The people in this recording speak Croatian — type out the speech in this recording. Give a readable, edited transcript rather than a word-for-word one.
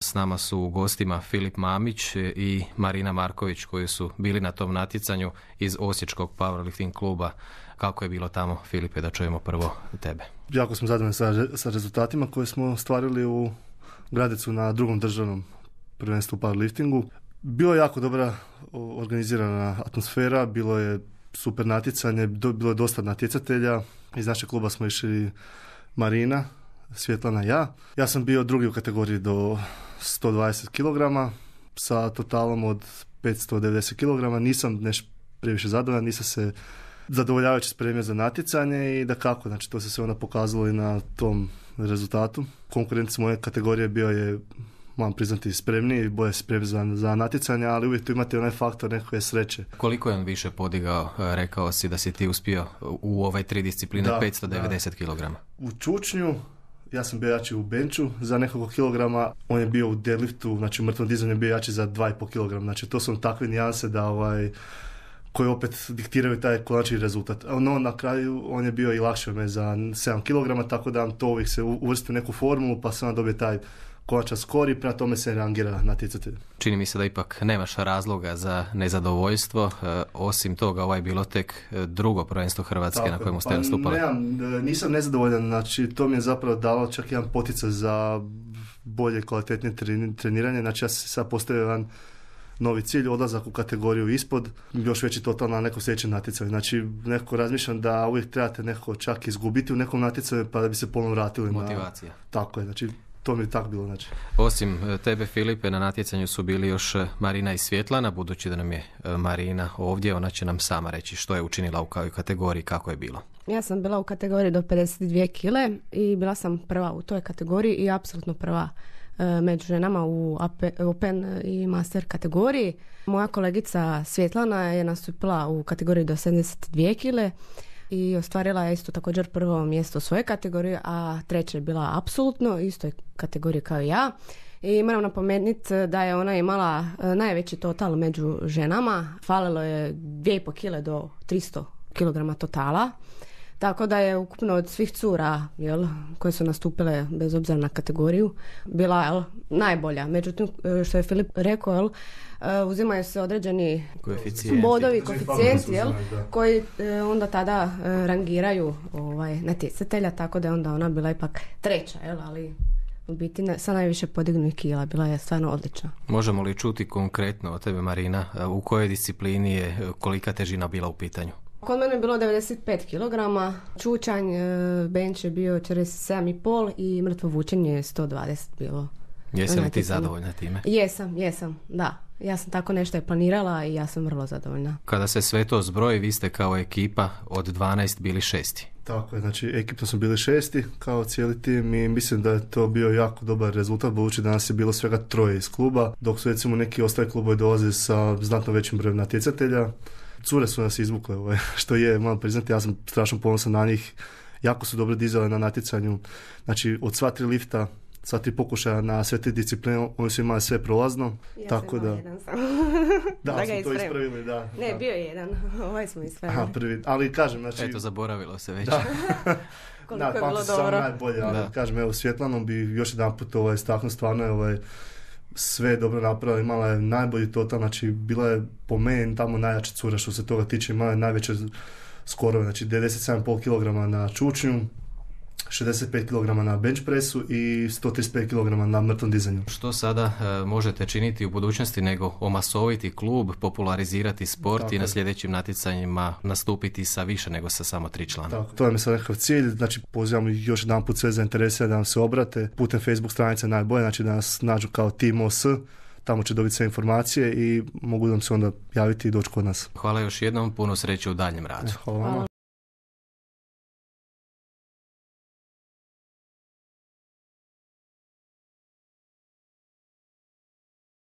S nama su u gostima Filip Mamić i Marina Marković koji su bili na tom natjecanju iz Osječkog powerlifting kluba. Kako je bilo tamo, Filipe, da čujemo prvo tebe? Jako smo zadovoljni sa rezultatima koje smo stvarili u Gradecu na drugom državnom prvenstvu u powerliftingu. Bilo je jako dobra organizirana atmosfera, bilo je super natjecanje, bilo je dosta natjecatelja. Iz našeg kluba smo išli Marina, Svjetlana i ja. Ja sam bio drugi u kategoriji do 120 kg sa totalom od 590 kg. Nisam nešto previše zadovoljan, nisam se zadovoljavajući spremio za natjecanje i da kako, znači to se sve onda pokazalo i na tom rezultatu. Konkurent s moje kategorije bio je, moram priznati, spremniji i bolje spremni za natjecanje, ali uvijek tu imate onaj faktor nekakve sreće. Koliko je on više podigao? Rekao si da si ti uspio u ove 3 discipline 590 kg. U čučnju ja sam bio jači u benču za nekoliko kilograma, on je bio u deadliftu, znači u mrtvom dizanju je bio jači za 2,5 kg. Znači to su takve nijanse da koji opet diktiraju taj konačni rezultat. No, na kraju on je bio i lakše me za 7 kg, tako da to uvijek se uvrsti u neku formulu, pa se onda dobije taj konačan skor i prema tome se rangira natjecatelj. Čini mi se da ipak nemaš razloga za nezadovoljstvo. Osim toga, ovo je bilo tek drugo prvenstvo Hrvatske tako, na kojemu ste nastupali. Nisam nezadovoljan, znači to mi je zapravo dalo čak jedan poticaj za bolje, kvalitetnije treniranje. Znači ja sam sad postavio jedan novi cilj, odlazak u kategoriju ispod, još veći total na nekom sljedećem natjecanju. Znači, nekako razmišljam da uvijek trebate nekako čak izgubiti u nekom natjecanju pa da bi se ponovno vratili. Motivacija. Tako je, znači to mi je tako bilo. Znači. Osim tebe, Filipe, na natjecanju su bili još Marina i Svjetlana. Budući da nam je Marina ovdje, ona će nam sama reći što je učinila u kategoriji, kako je bilo. Ja sam bila u kategoriji do 52 kg i bila sam prva u toj kategoriji i apsolutno prva među ženama u Open i Master kategoriji. Moja kolegica Svjetlana je nastupila u kategoriji do 72 kg i ostvarila je isto također prvo mjesto u svojoj kategoriji, a treća je bila apsolutno istoj kategoriji kao i ja. I moram napomenuti da je ona imala najveći total među ženama. Falilo je 2,5 kg do 300 kg totala. Tako da je ukupno od svih cura koje su nastupile bez obzira na kategoriju bila najbolja. Međutim, što je Filip rekao, uzimaju se određeni bodovi, koeficijenti koji onda tada rangiraju natjecatelja, tako da je onda ona bila ipak treća, ali u biti sa najviše podignuih kila bila je stvarno odlična. Možemo li čuti konkretno od tebe, Marina, u kojoj disciplini je kolika težina bila u pitanju? Kod mene je bilo 95 kg, čučanj, bench je bio 47,5 i mrtvo vučenje je 120 bilo. Jesi li ti zadovoljna time? Jesam, da. Ja sam tako nešto je planirala i ja sam vrlo zadovoljna. Kada se sve to zbroji, vi ste kao ekipa od 12 bili 6. Tako je, znači ekipno smo bili 6 kao cijeli tim i mislim da je to bio jako dobar rezultat, budući da nas je bilo svega 3 iz kluba, dok su recimo neki ostali klubovi dolaze sa znatno većim brojem natjecatelja. Cure su nas izvukle, što je, moram priznati, ja sam strašno ponosan na njih. Jako su dobro dizale na natjecanju. Znači, od sva 3 lifta, sva 3 pokušaja na sve 3 discipline, oni su imali sve prolazno. Ja tako sam jedan sam. Da smo to ispravili, da. Ne, bio je jedan, ovaj smo ispravili. Prvi, ali kažem, znači... Eto, zaboravilo se već. Da. Koliko je bilo dobro. Sam najbolje, ali kažem, evo, Svjetlanom bi još jedan put istaknuo, stvarno je sve je dobro napravila, imala je najbolji total, znači bila je po meni tamo najjača cura što se toga tiče, imala je najveće skorove, znači 97,5 kg na čučnju, 65 kg na bench pressu i 135 kg na mrtvom dizanju. Što sada možete činiti u budućnosti nego omasoviti klub, popularizirati sport tako i na sljedećim natjecanjima nastupiti sa više nego sa samo 3 člana? Tako, to je mi sad nekakav cilj, znači pozivam još jedan put sve zainteresirane da nam se obrate putem Facebook stranice najbolje, znači da nas nađu kao Team OS, tamo će dobiti sve informacije i mogu nam se onda javiti i doći kod nas. Hvala još jednom, puno sreće u daljem radu. Hvala.